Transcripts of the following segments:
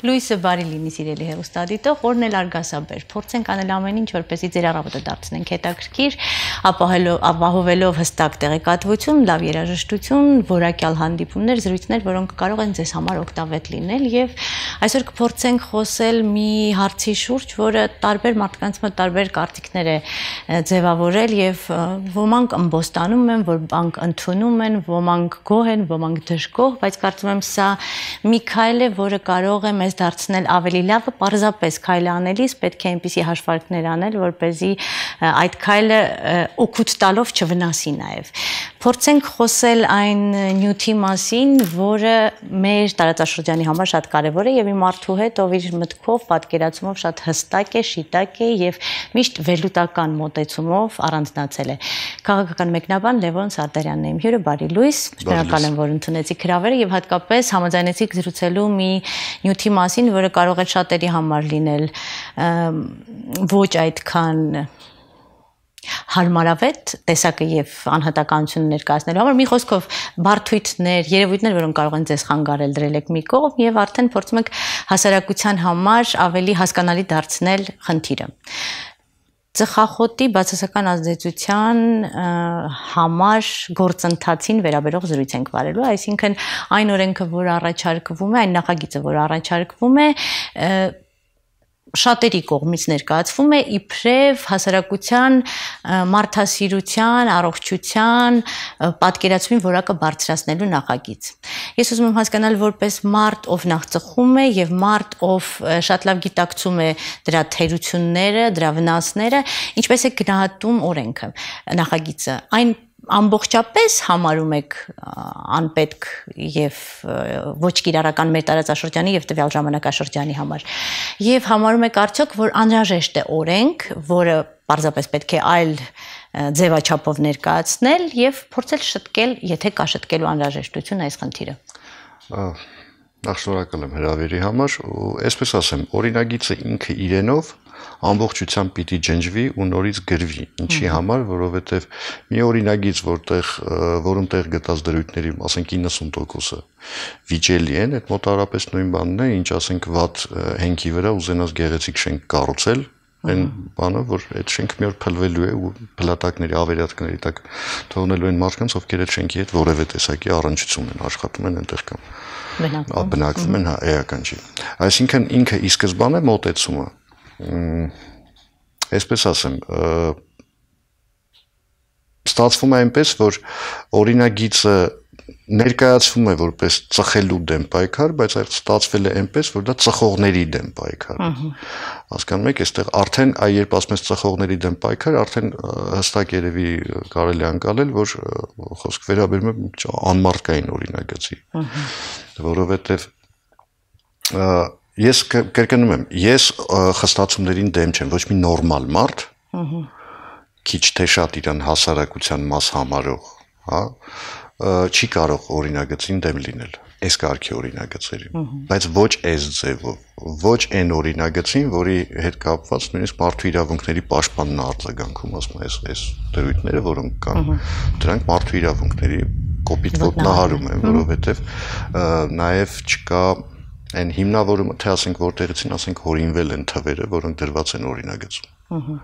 Լույսը բարի լինի սիրելի հեռուստադիտող, օրն էլ արգասաբեր, փորձենք անել ամեն ինչ, որպեսզի ձեր առավոտը դարձնենք հետաքրքիր, ապահովելով հստակ տեղեկատվություն, լավ երաժշտություն, որակյալ հանդիպումներ, զրույցներ, որոնք կարող են ձեզ համար օգտավետ լինել եւ այսօր կփորձենք խոսել մի հարցի շուրջ, որը տարբեր մարդկանց մոտ տարբեր կարծիքներ է ձևավորել եւ ոմանք ըմբոստանում են, ոմանք ընդունում են, ոմանք գոհ են, ոմանք դժգոհ, բայց կարծում եմ սա մի քայլ է, որը կարող է մեզ դարձնել ավելի լավը, պարզապես քայլը անելիս պետք է այնպիսի հաշվարկներ անել, որպեսզի այդ քայլը օգուտ տալով չվնասի նաև։ Փորձենք խոսել այն նյութի մասին, որը մեր տարածաշրջանի համար շատ կարևոր է եւ մի մարդու հետ, ով իր մտքով, պատկերացումով շատ հստակ է, շիտակ է եւ միշտ վերլուծական մոտեցումով առանձնացել է։ Քաղաքական մեկնաբան Լևոն Սարդարյանն է իմ հյուրը, բարի լույս, շնորհակալ եմ, որ ընդունեցիք հրավերը եւ հատկապես համաձայնեցիք զրուցելու մի նյութի մասին, որը կարող է շատերի համար լինել ոչ այդքան հարմարավետ տեսակը եւ անհատականությունը ներկայացնելու համար մի խոսքով բարդույթներ, երևույթներ, որոնք կարող են ձեզ խանգարել, դրել եք մի կողմ եւ արդեն փորձում եք հասարակության համար ավելի հասկանալի դարձնել խնդիրը։ Ծխախոտի բացասական ազդեցության համար գործընթացին վերաբերող զրույց ենք վարելու, այսինքն այն օրենքը, որ առաջարկվում է, այն նախագիծը, որ առաջարկվում է, շատերի կողմից ներկայացվում է իբրև հասարակության մարդասիրության, առողջության, պատկերացումի որակը բարձրացնելու նախագիծ։ Ես ուզում եմ հասկանալ որպես մարդ, ով նախ ծխում է եւ մարդ, ով շատ լավ գիտակցում է դրա թերությունները, դրա վնասները, ինչպես է գնահատում օրենքը, նախագիծը։ Այն ամբողջապես համարում եք անպետք եւ ոչ կիրառական մեր տարածաշրջանի եւ տվյալ ժամանակաշրջանի համար եւ համարում եք արդյոք որ անհրաժեշտ է օրենք, որը պարզապես պետք է այլ ձևաչափով ներկայացնել եւ փորձել շտկել, եթե կա շտկելու անհրաժեշտություն այս խնդիրը։ Նախ շնորհակալ եմ հրավերի համար ու այսպես ասեմ, օրինագիծը ինքը իրենով ամբողջությամբ պիտի ջնջվի ու նորից գրվի։ Ինչի համար, որովհետև մի օրինագիծ, որում տեղ գտած դրույթների, ասենք 90%-ը վիճելի են, այդ մոտավորապես նույն բանն է, ինչ ասենք վատ հենքի վրա ուզենաս գեղեցիկ շենք կառուցել, այն բանը, որ այդ շենքը մի օր փլվելու է ու փլատակների, ավերածքների տակ թողնելու են մարդկանց, ովքեր այդ շենքի հետ որևէ տեսակի առնչություն են, աշխատում են այնտեղ կամ բնակվում են, էական չի։ Այսինքն ինքը ի սկզբանե մոտեցումը այսպես ասեմ, ստացվում է այնպես, որ օրինագիծը ներկայացվում է որպես ծխելու դեմ պայքար, բայց այդ ստացվել է այնպես, որ դա ծխողների դեմ պայքար։ Հասկանում եք, այստեղ արդեն երբ ասում ես ծխողների դեմ պայքար, արդեն հստակ երևի կարելի է անցնել, որ խոսք վերաբերում է անմարդկային օրինագծի, որովհետև ես կրկնում եմ, ես խստացումներին դեմ չեմ, ոչ մի նորմալ մարդ, քիչ թե շատ իրան հասարակության մաս համարող, չի կարող օրինագծին դեմ լինել, այս կարգի օրինագծերին, բայց ոչ այս ձևով, ոչ այն օրինագծին, որի հետ կապված նույնիսկ մարդու իրավունքների պաշտպանն արձագանքում, ասում այս դրույթները, որոնք կան, դրանք մարդու իրավունքների կոպիտ ոտնահարում են, որովհետև նաև չկա այն հիմնավորումը, թե ասենք որտեղից ասենք հորինվել են թվերը, որոնք դրված են օրինագծում։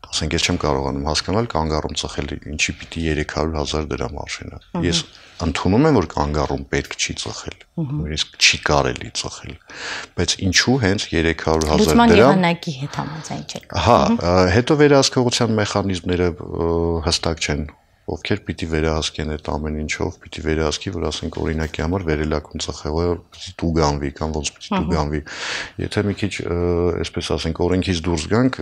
Ասենք ես չեմ կարողանում հասկանալ կանգառում ծխել ինչի պիտի 300,000 դրամ արժենա։ Ես ընդունում եմ, որ կանգառում պետք չի ծխել, նույնիսկ չի կարելի ծխել, բայց ինչու հենց 300,000 դրամ։ Լուծման եղանակի հետ համաձայն չեք։ Հա, հետո վերահսկողության մեխանիզմները հստակ չեն։ Ովքեր պիտի վերահսկեն այդ ամեն ինչով, պիտի վերահսկի, որ ասենք օրինակի համար վերելակում ծխողը պիտի տուգանվի կամ ոնց պիտի տուգանվի։ Եթե մի քիչ, այսպես ասենք, օրենքից դուրս գանք,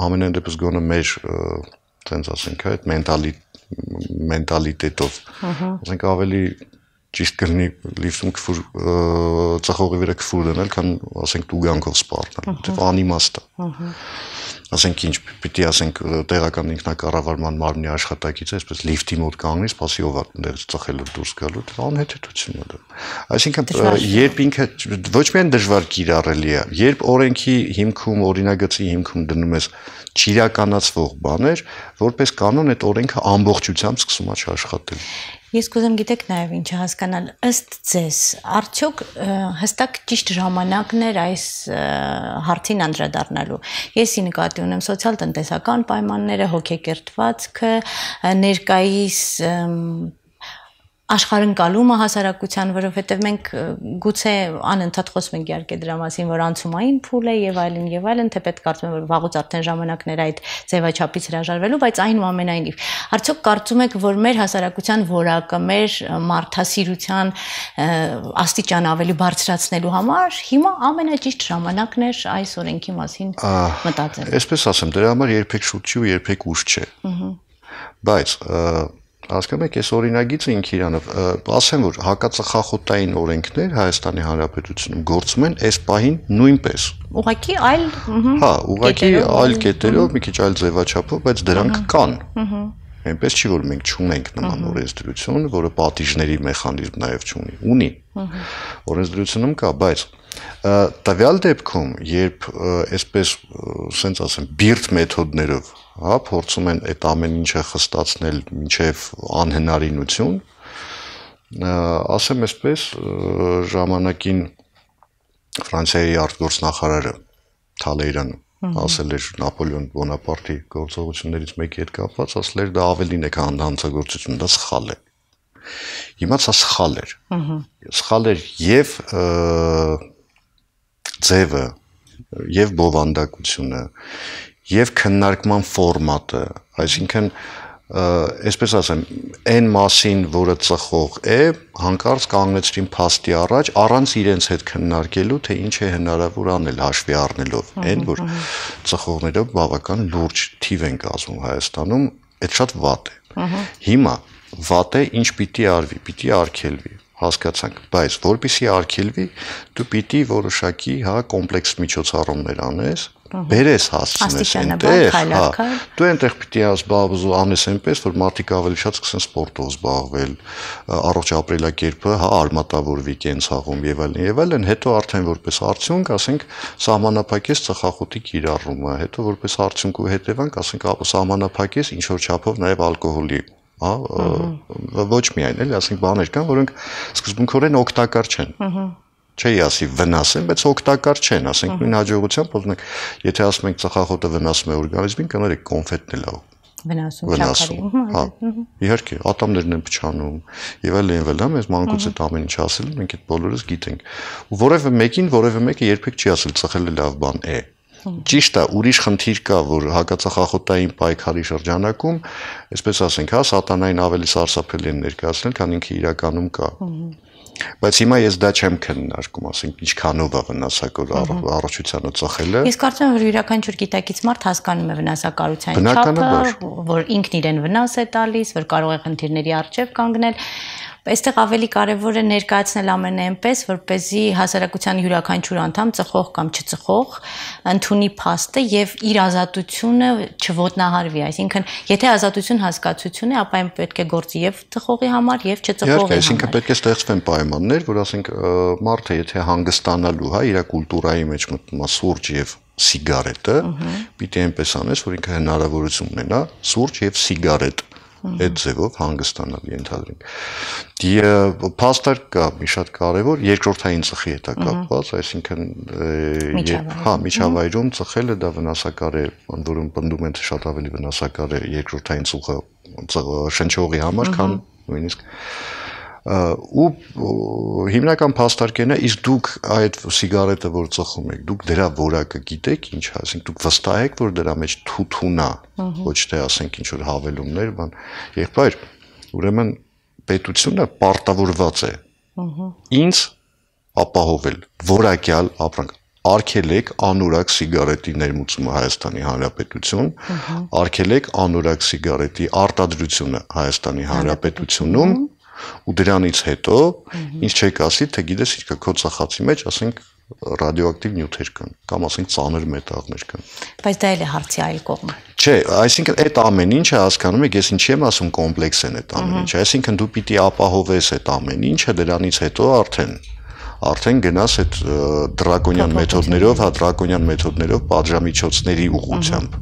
ամենայն դեպս գոնե մեր, տենց ասենք, այդ մենտալիտետով, ասենք ավելի ճիշտ կլինի լիֆտում քֆուր ծխողի վրա քֆուր դնել, քան ասենք տուգանքով սպառնել, որտեղ անիմաստ է։ Ասենք ինչ պիտի ասենք տեղական ինքնակառավարման մարմնի աշխատակից է, այսպես լիֆտի մոտ կանգնի, սպասի ով այդտեղից ծխելով դուրս գալու, դա անհեթեթություն է դա։ Այսինքն երբ ինքը ոչ միայն դժվար կիրառելի է, երբ օրենքի հիմքում, օրինագծի հիմքում դնում ես չիրականացվող բաներ, որպես կանոն այդ օրենքը ամբողջությամբ սկսում է չաշխատել։ Ես կուզեմ գիտեք նաև ինչը հասկանալ ըստ ձեզ արդյոք հստակ ճիշտ ժամանակն էր այս հարցին անդրադառնալու եսի նկատի ունեմ սոցիալ-տնտեսական պայմանները հոգեկերտվածքը ներկայիս աշխարհընկալումը հասարակության, որովհետև մենք գուցե անընդհատ խոսում ենք իհարկե դրա մասին, որ անցումային փուլ է եւ այլն, թեպետ կարծում եմ, որ վաղուց արդեն ժամանակներ այդ ձևաչափից հրաժարվելու, բայց այնուամենայնիվ, արդյոք կարծում եք, որ մեր հասարակության որակը, մեր մարդասիրության աստիճան ավելի բարձրացնելու համար հիմա ամենաճիշտ ժամանակն էր այս օրենքի մասին մտածել։ Այսպես ասեմ, դրա համար երբեք շուտ չի ու երբեք ուշ չէ։ Բայց հասկանում եք, այս օրինագիծը ինքը իրանով ասեմ, որ հակածխախոտային օրենքներ Հայաստանի Հանրապետությունում գործում են այս պահին նույնպես։ Ուղղակի այլ Հա, ուղղակի այլ կետերով, մի քիչ այլ ձևաչափով, բայց դրանք կան։ Այնպես չի, որ մենք չունենք նման օրենսդրություն, որը պատիժների մեխանիզմ նաև չունի։ Ունի։ Օրենսդրությունում կա, բայց տվյալ դեպքում, երբ այսպես, ասենց ասեմ, բիրտ մեթոդներով հա, փորձում են այդ ամեն ինչը խստացնել մինչև անհնարինություն, ասեմ այսպես, ժամանակին Ֆրանսիայի արտգործնախարարը Թալեյրանը ասել էր Նապոլեոն Բոնապարտի գործողություններից մեկի հետ կապված, ասել էր դա ավելին է, քան հանցագործություն, դա սխալ է։ Հիմա սա սխալ էր։ Սխալ էր եւ ձևը, եւ բովանդակությունը, եւ քննարկման ֆորմատը, այսինքն այսպես ասեմ, այն մասին, որը ծխող է, հանկարծ կանգնեցրին փաստի առաջ, առանց իրենց հետ քննարկելու, թե ինչ է հնարավոր անել հաշվի առնելով, այն որ ծխողներով բավական լուրջ թիվ են կազմում Հայաստանում, այդ շատ վատ է։ Հիմա վատ է, ինչ պիտի արվի, պիտի արգելվի, հասկացանք, բայց որպեսզի արգելվի, դու պիտի որոշակի, հա, կոմպլեքս միջոցառումներ անես, բերես հասցնես այնտեղ, հա, դու այնտեղ պիտի անես այնպես, որ մարդիկ ավելի շատ սկսեն սպորտով զբաղվել, առողջ ապրելակերպը, հա, արմատավորվի կենցաղում եւ այլն, հետո արդեն որպես արդյունք, ասենք, սահմանափակես ծխախոտի կիրառումը, հետո որպես արդյունք ու հետևանք, ասենք, սահմանափակես ինչ որ չափով նաեւ ալկոհոլի ոչ միայն էլի, ասենք բաներ կան, որոնք սկզբունքորեն օգտակար չեն։ Չի ասի վնաս են, բայց օգտակար չեն, ասենք նույն հաջողությամբ, ասենք, եթե ասում ենք ծխախոտը վնասում է օրգանիզմին, կներեք կոնֆետն էլ է վնասում, հա, իհարկե, ատամներն են փչանում եւ այլն, մեզ մանկուց այդ ամեն ինչ ասել, մենք այդ բոլորս գիտենք։ Ու որևէ մեկը երբեք չի ասել ծխելը լավ բան է։ Ճիշտ է, ուրիշ խնդիր կա, որ հակածխախոտային պայքարի շրջանակում, այսպես ասենք, հա, սատանային ավելի սարսափելի են ներկայացնել, քան ինքը իրականում կա։ Բայց հիմա ես դա չեմ քննարկում, ասենք, ինչքանով է վնասակար առողջությանը ծխելը։ Ես կարծում եմ, որ յուրաքանչյուր գիտակից մարդ հասկանում է վնասակարության չափը, որ ինքն իրեն վնաս է տալիս, որ կարող է խնդիրների առջև կանգնել։ Այստեղ ավելի կարևոր է ներկայացնել ամենը այնպես, որպեսզի հասարակության յուրաքանչյուր անդամ ծխող կամ չծխող ընդունի փաստը եւ իր ազատությունը չոտնահարվի, այսինքն եթե ազատություն հասկացություն է, ապա այն պետք է գործի եւ ծխողի համար եւ չծխողի համար։ Այսինքն պետք է ստեղծվեն պայմաններ, որ ասենք մարդը եթե հանգստանալու, հա, իր կուլտուրայի մեջ մտնում է սուրճ եւ սիգարետը, պիտի այնպես անես, որ ինքը հնարավորություն ունենա սուրճ եւ սիգարետ այդ ձևով հանգստանալ ենթադրենք։ Փաստեր կա մի շատ կարևոր երկրորդային ծխի հետ կապված, այսինքն հա, միջավայրում ծխելը դա վնասակար է, ընդ որում պնդում են, թե շատ ավելի վնասակար է երկրորդային ծուխը շնչողի համար, քան նույնիսկ ու հիմնական փաստարկն է, իսկ դուք այդ սիգարետը, որ ծխում եք, դուք դրա որակը գիտեք ինչ, ասենք դուք վստահ եք, որ դրա մեջ թութուն է, ոչ թե ասենք ինչ որ հավելումներ, բան, եղբայր, ուրեմն պետությունը պարտավորված է ինձ ապահովել որակյալ ապրանք, արգելեք անորակ սիգարետի ներմուծումը Հայաստանի Հանրապետություն, արգելեք անորակ սիգարետի արտադրությունը Հայաստանի Հանրապետությունում ու դրանից հետո ինչ չեք ասի, թե գիտես ինչ կա քո ծխածի մեջ, ասենք ռադիոակտիվ նյութեր կան, կամ ասենք ծանր մետաղներ կան։ Բայց դա էլ է հարցի այլ կողմը։ Չէ, այսինքն այդ ամեն ինչը հասկանում եք, ես ինչի եմ ասում կոմպլեքս են այդ ամեն ինչը, այսինքն դու պիտի ապահովես այդ ամեն ինչը, դրանից հետո արդեն գնաս այդ դրակոնյան մեթոդներով, հա, դրակոնյան մեթոդներով պատժամիջոցների ուղղությամբ։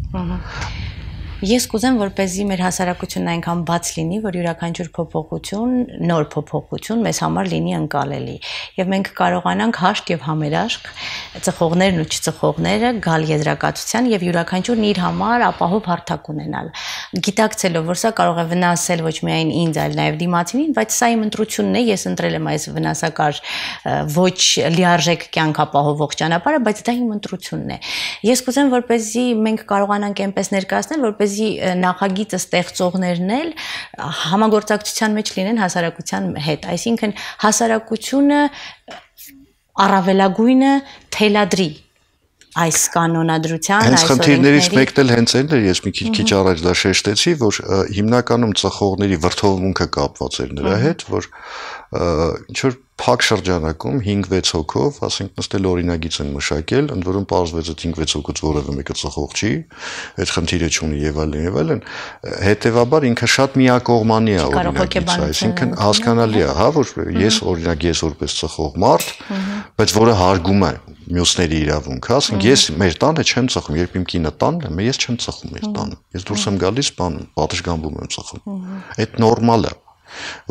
Ես կուզեմ, որպեսզի մեր հասարակությունն այնքան բաց լինի, որ յուրաքանչյուր փոփոխություն, նոր փոփոխություն մեզ համար լինի ընկալելի։ Եվ մենք կարողանանք հաշտ եւ համերաշխ ծխողներն ու չծխողները գալ եզրակացության եւ յուրաքանչյուրն իր համար ապահով հարթակ ունենալ։ Գիտակցելով, որ սա կարող է վնասել ոչ միայն ինձ, այլ նաեւ դիմացինին, բայց սա իմ ընտրությունն է, ես ընտրել եմ այս վնասակար ոչ լիարժեք կյանք ապահովող ճանապարհը, բայց դա իմ ընտրությունն է։ Ես կուզեմ, որպեսզի մենք կարողանանք այնպես ներկայացնել, որպեսզի նախագիծը ստեղծողներն էլ համագործակցության մեջ լինեն հասարակության հետ, այսինքն հասարակությունը առավելագույնը թելադրի այս կանոնադրության, այս խնդիրներից մեկն էլ հենց այն էր, ես մի քիչ առաջ դա շեշտեցի, որ հիմնականում ծխողների վրդովմունքը կապված էր նրա հետ, որ ինչ որ փակ շրջանակում 5-6 հոգով, ասենք նստել օրինագիծ են մշակել, ընդ որում պարզվեց այդ 5-6 հոգուց որևէ մեկը ծխող չի, այդ խնդիրը չունի եւ այլն, հետեւաբար ինքը շատ միակողմանի է օրինագիծը, այսինքն հասկանալի է, հա, որ ես օրինակ ես որպես ծխող մարդ, բայց որը հարգում է մյուսների իրավունք, հա, ասենք ես մեր տանը չեմ ծխում, երբ իմ կինը տանն է, ես չեմ ծխում մեր տանը, ես դուրս եմ գալիս, պատշգամբում եմ ծխում, այդ նորմալ է,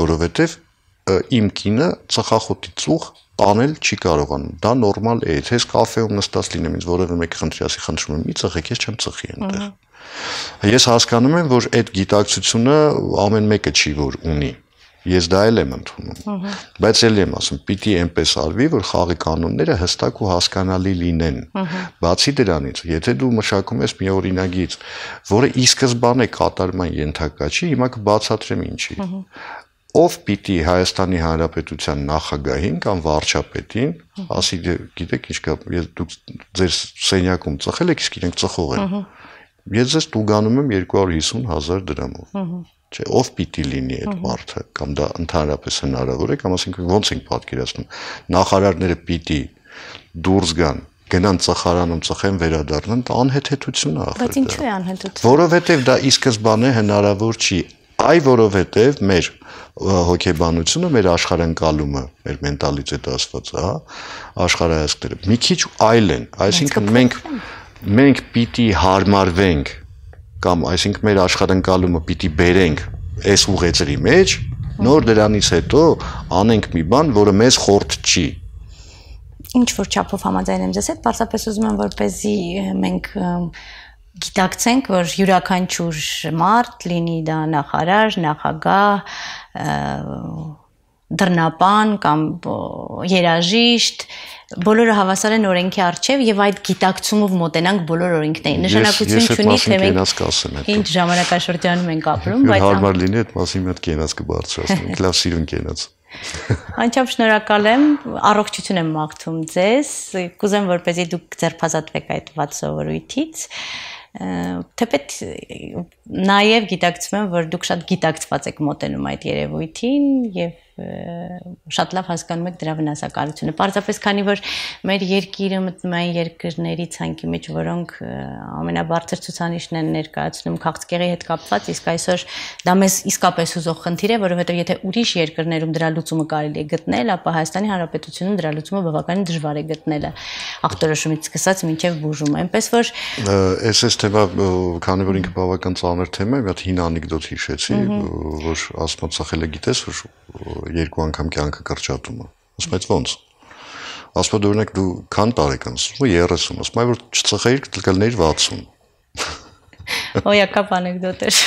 որովհետեւ իմ կինը ծխախոտի ծուխ տանել չի կարողանում, դա նորմալ է, ես կաֆեում նստած լինեմ, ինձ որևէ մեկը խնդրի ասի խնդրում եմ, մի ծխեք, ես չեմ ծխի այնտեղ։ Ես հասկանում եմ, որ այդ գիտակցությունը ամեն մեկը չի որ ունի, ես դա էլ եմ ընդունում, բայց էլ եմ ասում, պիտի այնպես արվի, որ խաղի կանոնները հստակ ու հասկանալի լինեն։ Բացի դրանից, եթե դու մշակում ես մի օրինագիծ, որը ի սկզբանե կատարման ենթակա չի, հիմա կբացատրեմ ինչի։ Ով պիտի Հայաստանի Հանրապետության նախագահին կամ վարչապետին ասի, գիտեք ինչ կա, դուք ձեր սենյակում ծխել եք, իսկ իրենք ծխող են։ Ես ձեզ տուգանում եմ 250,000 դրամով։ Չէ, ով պիտի լինի այդ մարդը, կամ դա ընդհանրապես հնարավոր է, կամ ասենք ոնց ենք պատկերացնում։ Նախարարները պիտի դուրս գնան ծխարանում ծխեն վերադառնան, անհեթեթություն է ախր։ Բայց ինչու է անհեթեթություն։ Որովհետև դա ի սկզբանե հնարավոր չի։ Այ որովհետև մեր հոգեբանությունը, մեր աշխարհընկալումը, մեր մենտալիտետը ասված, հա, աշխարհայացքները մի քիչ այլ են, այսինքն մենք պիտի հարմարվենք կամ այսինքն մեր աշխարհընկալումը պիտի բերենք այս ուղեծրի մեջ, նոր դրանից հետո անենք մի բան, որը մեզ խորտ չի։ Ինչ որ չափով համաձայն եմ ձեզ հետ, պարզապես ուզում եմ որպեսզի մենք գիտակցենք, որ յուրաքանչյուր մարդ, լինի դա նախարար, նախագահ, դռնապան կամ երաժիշտ, բոլորը հավասար են օրենքի առջև եւ այդ գիտակցումով մոտենանք բոլոր օրենքներին։ Նշանակություն չունի, թե մենք ինչ ժամանակաշրջանում ենք ապրում, բայց հարմար լինի այդ մասին մի հատ կենաց կբարձրացնենք, լավ սիրուն կենաց։ Անչափ շնորհակալ եմ, առողջություն եմ մաղթում ձեզ, կուզեմ որպեսզի դուք ձերբազատվեք այդ վատ սովորույթից, թեպետ նաև գիտակցում եմ, որ դուք շատ գիտակցված եք մոտենում այդ երևույթին եւ շատ լավ հասկանում եք դրա վնասակարությունը։ Պարզապես քանի որ մեր երկիրը մտմային երկրների ցանկի մեջ, որոնք ամենաբարձր ցուցանիշն են ներկայացնում քաղցկեղի հետ կապված, իսկ այսօր դա մեզ իսկապես հուզող խնդիր է, որովհետեւ եթե ուրիշ երկրներում դրա լուծումը կարելի է գտնել, ապա Հայաստանի Հանրապետությունում դրա լուծումը բավականին դժվար է գտնելը, ախտորոշումից սկսած մինչև բուժումը, այնպես որ այս թեմա, քանի որ ինքը բավական ծանր թեմա է, մի հատ հին անեկդոտ հիշեցի, որ ասում ծախելը գիտես, որ երկու անգամ կյանքը կրճատում է։ Ասում եմ, ո՞նց։ Ասում եմ, օրինակ դու քան տարեկան ես, 30, ասում եմ, որ չծխեիր, կլներ 60։ Օյակապ անեկդոտ էր։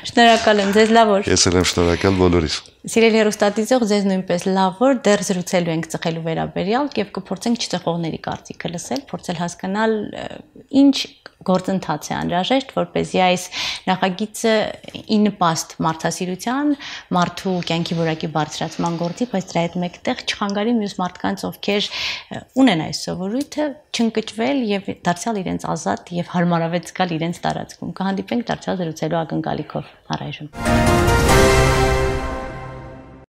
Շնորհակալ եմ ձեզ, լավ օր։ Ես էլ եմ շնորհակալ բոլորիս։ Սիրելի հեռուստադիտող, ձեզ նույնպես լավ օր, դեռ զրուցելու ենք ծխելու վերաբերյալ եւ կփորձենք չծխողների կարծիքը լսել, փորձել հասկանալ ինչ գործընթաց է անհրաժեշտ, որպեսզի այս նախագիծը ի նպաստ մարդասիրության, մարդու կյանքի որակի բարձրացման գործի, բայց դրա հետ մեկտեղ չխանգարի մյուս մարդկանց, ովքեր ունեն այս սովորույթը, չընկճվել եւ դարձյալ իրենց ազատ եւ հարմարավետ զգալ իրենց տարածքում։ Կհանդիպենք դարձյալ զրուցելու ակնկալիքով։ Առայժմ